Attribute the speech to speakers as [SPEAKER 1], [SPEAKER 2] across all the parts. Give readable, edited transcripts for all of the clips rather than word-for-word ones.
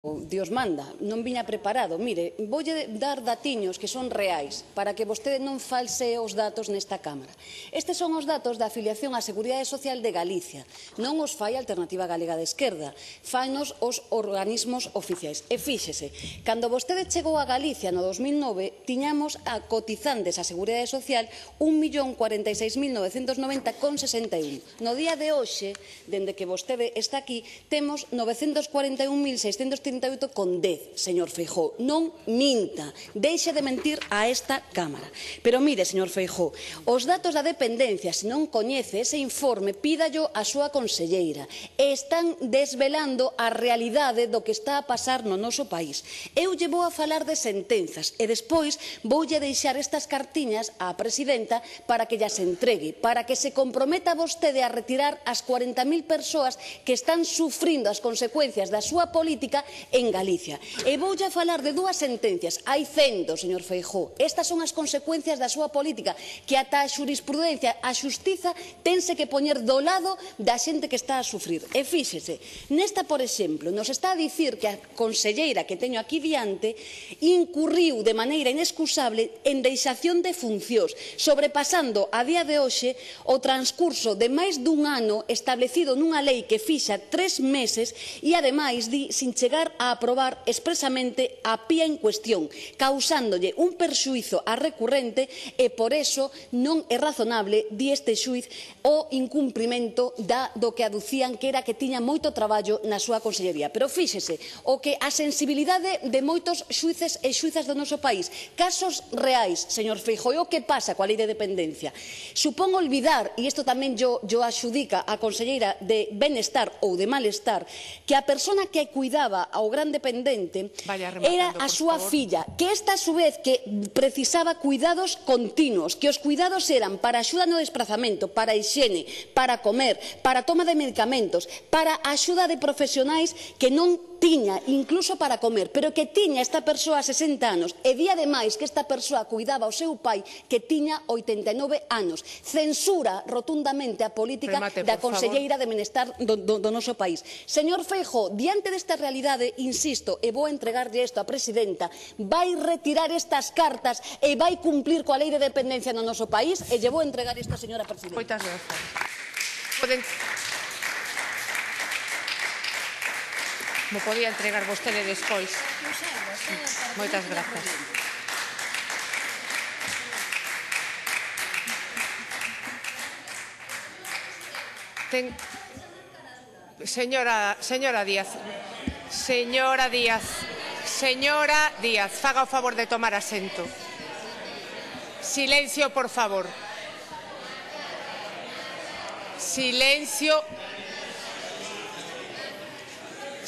[SPEAKER 1] Dios manda, non viña preparado. Mire, voulle dar datiños que son reais para que vostede non falsee os datos nesta Cámara. Estes son os datos da afiliación á Seguridade Social de Galicia. Non os fai a Alternativa Galega de Esquerda, fainos os organismos oficiais. E fíxese, cando vostede chegou a Galicia no 2009, tiñamos a cotizantes á Seguridade Social 1.046.990,61. No día de hoxe, dende que vostede está aquí, temos 941.638,10. Señor Feijóo, non minta, deixe de mentir a esta Cámara. Pero mire, señor Feijóo, os datos da dependencia, se non coñece ese informe, pídallo a súa conselleira. Están desvelando a realidade do que está a pasar no noso país. Eu lle vou a falar de sentenzas e despois voulle deixar estas cartiñas á presidenta para que llas entregue, para que se comprometa vostede a retirar as 40.000 persoas que están sufrindo as consecuencias da súa política en Galicia. E voulle a falar de dúas sentencias. Hai 100, señor Feijóo. Estas son as consecuencias da súa política, que ata a xurisprudencia, a xustiza, tense que poñer do lado da xente que está a sufrir. E fíxese, nesta, por exemplo, nos está a dicir que a conselleira que teño aquí diante incurriu de maneira inexcusable en deixación de funcións, sobrepasando a día de hoxe o transcurso de máis dun ano establecido nunha lei que fixa 3 meses e, ademais, di sin chegar a aprobar expresamente a pía en cuestión, causándolle un perxuízo á recurrente e, por eso, non é razonable, di este xuiz, o incumprimento do que aducían que era que tiña moito traballo na súa consellería. Pero fíxese, o que a sensibilidade de moitos xuíces e xuízas do noso país, casos reais, señor Feijóo, o que pasa coa lei de dependencia. Supón olvidar, e isto tamén yo axudica a conselleira de Benestar ou de Malestar, que a persona que cuidaba ao gran dependente era a súa filla, que esta, a su vez, que precisaba cuidados continuos, que os cuidados eran para axuda no desplazamento, para hixiene, para comer, para toma de medicamentos, para axuda de profesionais que non tiña, incluso para comer, pero que tiña esta persoa 60 anos, e di ademais que esta persoa cuidaba ao seu pai que tiña 89 anos. Censura rotundamente a política da conselleira de Benestar do noso país. Señor Feijóo, diante desta realidade, insisto, e vou entregarlle isto á presidenta, vai retirar estas cartas e vai cumplir coa lei de dependencia no noso país, e lle vou entregar isto á señora presidenta.
[SPEAKER 2] Moitas grazas. Mo podía entregar vostede despois. Moitas grazas. Señora Díaz, faga o favor de tomar asento. Silencio, por favor. Silencio.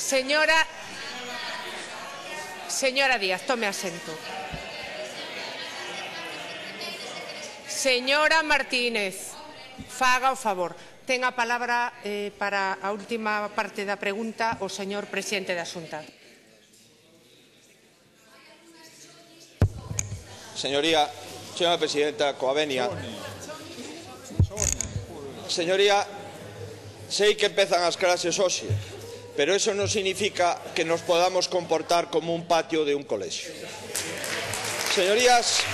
[SPEAKER 2] Señora Díaz, tome asento. Señora Martínez, faga o favor. Ten a palabra para a última parte da pregunta o señor presidente da Xunta.
[SPEAKER 3] Señora presidenta, coa venia. Señoría, sei que empezan as clases hoxe, pero eso non significa que nos podamos comportar como un patio de un colexio. Señorías,